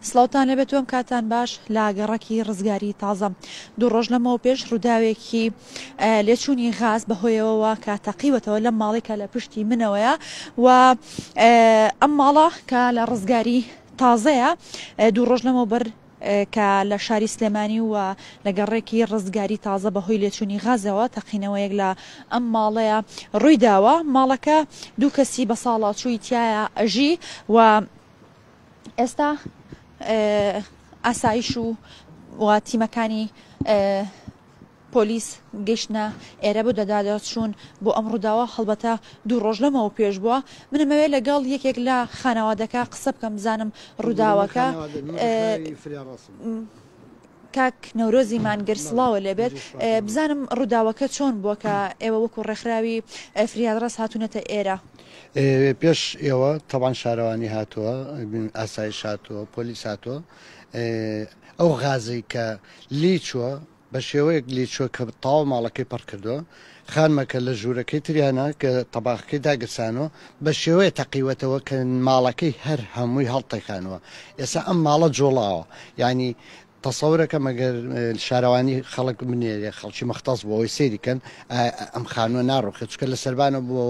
سڵاوتان لێبێت و ئەم کاتان باش لە گەڕەکی ڕزگاری تازە دوو ڕۆژ لەمەوە پێش ڕووداوێکی لێچوونی غاز بەهۆیەوەوە کە تەقیوەتەوە لەم ماڵی کە لە پشتی منەوەیە و ئەم ماڵە کە لە ڕزگاری تازەیە دوو ڕۆژ لەمەوبەر کە لە شاری سلێمانی و لە گەڕێکی ڕزگاری تازە بەهۆی لێچوونی غازەوە تەقینەوەیەک لە ئەم ماڵەیە ڕوویداوە ماڵەکە دوو کەسی بە ساڵاچووی تایە ئەژی و ئێستا ئاسایش و و تیمەکانی پۆلیس گەیشتنە ئێرە بۆ دەدادەچوون بۆ ئەم ڕووداوە هەڵبەتە دوو ڕۆژ لەمەوە پێش بووە منەمەوێ لەگەڵ یەکێک لە خانەوادەکە قسە بکەم بزانم ڕووداوەکە کاک نەورۆزی مانگر سڵاوە لێبێت بزانم ڕووداوەکە چۆن بووە کە ئێوە وەکو ڕێکخراوی فریادڕەس هاتوونەتە ئێرە؟ پێش ئێوە تەبعەن شارەوانی هاتووە، ئاسایش هاتووە، پۆلیس هاتووە، ئەو غازەی کە لێی چووە بە شێوەیەک لێی چووە کە تەواو ماڵەکەی پڕ کردووە، خانمەکە لە ژوورەکەی تریانە کە تەباخەکەی داگرسانوە بە شێوەیە تەقیوەتەوە کە ماڵەکەی هەر هەمووی هەڵتەکانوە ئێستا ئەم ماڵە جوڵاوە یعنی تەسەورەکەم ئەگەر شارەوانی خەڵک بنێرێ خەڵکی مەختەس بۆ ئەوەی سەیری کەن ئەم خانووە ناڕوخێت چونکە لە سەربانەوە بۆ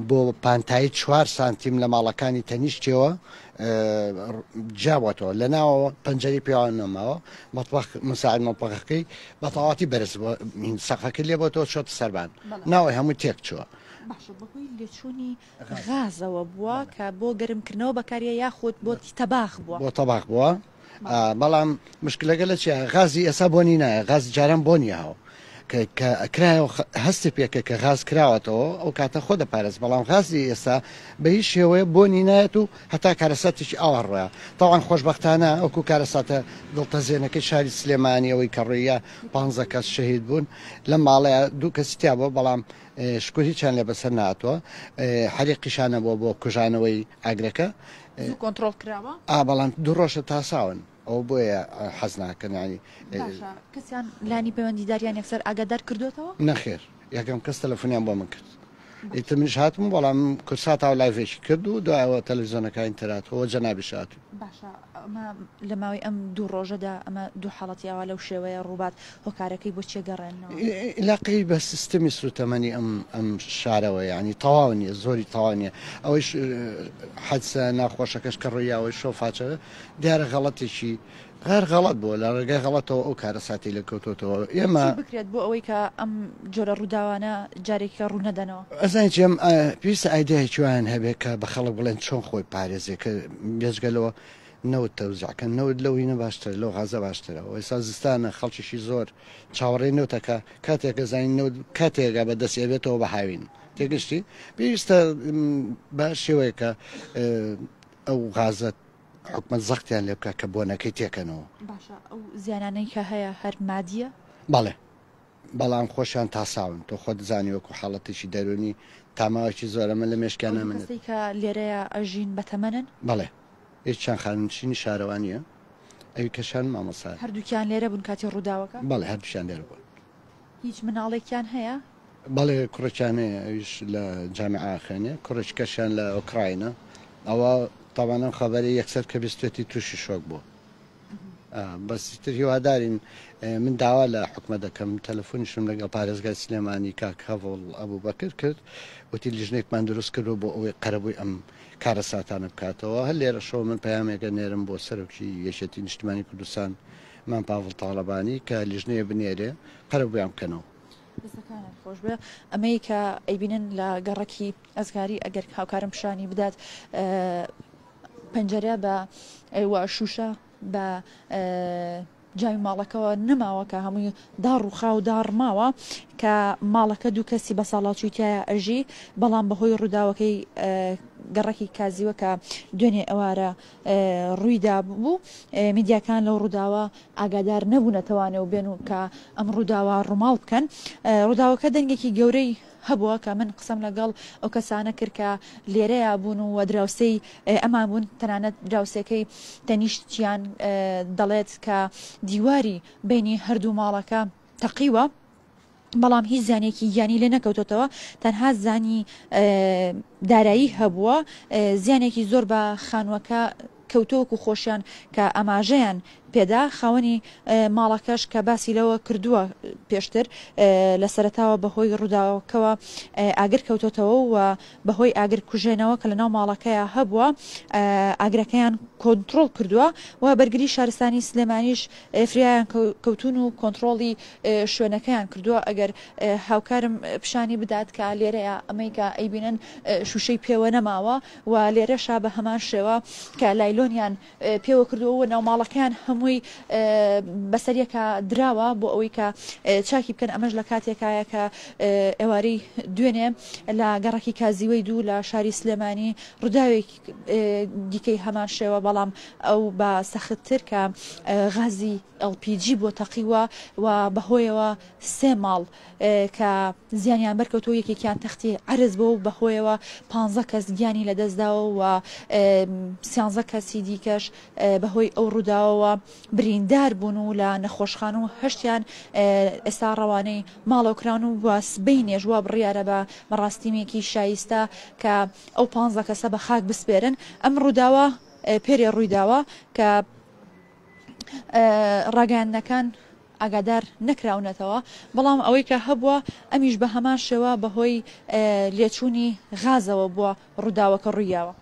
بۆ پانتایی چوار سانتیم لە ماڵەکانی تەنیشتەوە جیابووەتەوە لە ناوەوە پەنجەری پێوان نەماوە مەتبەخ مساعد مەتبەخەکەی بە تەواتی بەرز بووە سەقفەکەی لێ بۆتەوە چۆتە سەربان ناوەی هەمووی تێک چووە. باشە بەهۆی لێچوونی غازەوە بووە کە بۆ گەرمکردنەوە بەکاریە یاخود بۆ تەباخ بووە؟ بۆ تەباخ بووە بەڵام مشکلەکە لە چیە غازی ئێستا بۆنی نایە غازی جاران بۆنی هاو کە کرایەوە هەستی پێکە کە غاز کراوەتەوە ئەو کاتە خۆ دەپارێز بەڵام غازی ئێستا بە هیچ شێوەیە بۆنی نایەت و هەتا کارەساتێکی ئاوا ڕۆیا تاوان خۆشببختانە ئەوکو کارەساتە دڵتەزێنەکەی شاری سلێمانی ئەوەی کە ڕۆیە پ کەس شەهید بوون لە ماڵەیە دوو کەسی تیا بووە بەڵام شکر هیچیان لێ بەسەر ناتوە حەریقیشانە بووە بۆ کوژانەوەی ئاگرەکە. زوو کۆنتڕۆڵ کراوە؟ ئا بەڵام دوو ڕۆژە تاساون ئەوە بۆیە حەز ناکەن یانی. باشە کەسیان لانی پەیوەندیداریان یەکسەر ئاگادار کردۆتەوە؟ نەخێر یەکەم کەس تەلەفۆنیان بۆ من کرد ئیتر منیش هاتم بەڵام کوردسات ئاو لایڤێکی کرد و دوایەوە تەلەفزیۆنەکانی تر هاتووە جەنابیش هاتوو. باشە ئەمە لە ماوەی ئەم دوو ڕۆژەدا ئەمە دوو حاڵەتی ئاوا لەو شێوەیە ڕووبات هۆکارەکەی بۆ چیە گەڕێننەوە؟ ئیلاقەی بە سیستمی سوتەمەنی ئەم ئەم شارەوە یانی تەواو نیە زۆری تەواو نیە ئەوەیش حەدسە ناخۆشەکەش کە ڕوویاوەی شۆفاچە دیارە غەڵەتێکی غەر غەڵەت بووە لە ڕێگای غەڵەتەوە ئەو کارەساتی لێ کەوتۆتەوە ئێمە چی بکرێت بۆ ئەوەی کە ئەم جۆرە ڕووداوانە جارێکیکە ڕوو نەدەنەوە؟ ئەزانی چی ئەم پێویستە ئایدیایەکی وایان هەبێ کە بە خەڵک بڵێن چۆن خۆی پارێزێ کە بێجگە لەوە نەوت تەوزیع کەن نەوت لەو هینە باشترە لەو غازە باشترە و ئێستا زستانە خەڵکیشی زۆر چاوەڕێی نەوتەکە کاتێک ئەزانین نەوت کاتێکە بە دەستی ئەبێتەوە بە هاوین تێگەشتی پێویستە بە شێوەیەکە ئەو غازە حکومەت زەختیان لێ بکە کە بۆنەکەی تێکەنەوە. باشە ئەو زیانانەی کە هەیە هەر مادیە؟ بەڵێ بەڵام خۆشیان تاساون تۆ خۆت زانی وەکو حاڵەتێکی دەروونی تا ماوەیەکی زۆر ئەمە لە مێشکیان ئەو دوو نامێنێت. کەسەی کە لێرەیە ئەژین بەتەمەنن؟ بەڵێ یەکیان خانەنشینی شارەوانیە ئەوی کەشیان مامۆستایە. هەردووکیان لێرە بوون کاتی ڕووداوەکە؟ بەڵێ هەردووکیان لێرە بوون. هیچ مناڵێکیان هەیە؟ بەڵێ کوڕێکیان هەیە ئەویش لە جامیعە ئەخوێنێ کوڕێکی کەشیان لە ئۆکراینە ئەوە تەبعەن ئەم خەبەرەی یەکسەر کە بیستێتی تووشی شۆک بووە بەس تر هیوادارین من داوا لە حکومە دەکەم تەلەفۆنیشم لەگەڵ پارێزگای سلێمانی کاک هەڤڵ ئەبوبەکر کرد وتی لیژنێکمان دروست کردووە بۆ ئەوەی قەرەبووی ئەم کارەساتانە بکاتەوە هەر لێرەشەوە من پەیامێکە نێرم بۆ سەرۆکی یەکێتی نیشتمانی کوردستان مام پاڤڵ تاڵەبانی کە لیژنەیە بنێرێ قەرەبوویان بکەنەوە. دەستەکانت خۆش بێ ئەمەی کە ئەیبینن لە گەڕەکی ئەزگاری ئەگەر هاوکارم پیشانی بدات پەنجەرە بە و شوشە بە جامی ماڵەکەوە نەماوە کە هەمووی داڕوخا و داڕماوە کە ماڵەکە دوو کەسی بە ساڵاچووی تایە ئەژی بەڵام بەهۆی ڕووداوەکەی گەڕەکی کازیوە کە دوێنێ ئەوارە ڕوویدا بوو میدیاکان لەو ڕووداوە ئاگادار نەبوونەتەوانێ و بێن و کە ئەم ڕووداوە ڕووماڵ بکەن. ڕووداوەکە دەنگێکی گەورەی هەبووە کە من قسەم لەگەڵ ئەو کەسانە کرد کە لێرەیا بوون و دراوسێی ئەمان بوون، تەنانەت دراوسێکەی تەنیشتیان دەڵێت کە دیواری بەینی هەردوو ماڵەکە تەقیوە. بەڵام هیچ زیانێکی گیانی لێ نەکەوتۆتەوە تەنها زیانی دارایی هەبووە زیانێکی زۆر بە خانووەکە کەوتووە وەکو خۆشیان کە ئاماژەیان پێدا، خاوەنی ماڵەکەش کە باسی لەوە کردووە پێشتر لە سەرەتاوە بەهۆی ڕووداوەکەوە ئاگر کەوتۆتەوە و بەهۆی ئاگر کوژێنەوە کە لەناو ماڵەکەیا هەبووە ئاگرەکەیان کۆنتڕۆڵ کردووە و بەرگری شارستانی سلێمانیش فریایان کەوتون و کۆنتڕۆڵی شوێنەکەیان کردووە. ئەگەر هاوکارم پیشانی بدات کە لێرەیە ئەمەی کە ئەیبینن شوشەی پێوە نەماوە و لێرەشا بە هەمان شێوە کە لایلۆنیان پێوە کردووە و ناوماڵەکەیان هەمووی بەسەریەکا دراوە بۆ ئەوەی کە چاکی بکەن. ئەمەش لە کاتێکایە کە ئێوارەی دوێنێ لە گەڕەکی کازیوەی دوو لە شاری سلێمانی ڕووداوێکی دیکەی هەمان شێوە بەڵام ئەو بە سەختتر کە غازی LPG بۆ تەقیوە و بەهۆیەوە سێ ماڵ کە زیانیان بەرکەوتووە، یەکێکیان تەختی عەرز بووە و بەهۆیەوە پانزە کەس گیانی لەدەستداوە و سیانزە کەسی دیکەش بەهۆی ئەو ڕووداوەوە بریندار بوون و لە نەخۆشخانە و هەشتیان ئێستا ڕەوانەی ماڵەوە کراون و سبەینێش وا بڕیارە بە مەڕاستیمێکی شایستە کە ئەو پانزە کەسە بە خاک بسپێرن. ئەم ڕووداوە پێرێ ڕوویداوە کە ڕاگەیاندنەکان ئاگادار نەکراونەتەوە، بەڵام ئەوەی کە هەبووە ئەمیش بە هەمان شێوە بەهۆی لێچوونی غازەوە بووە ڕووداوەکە ڕوویاوە.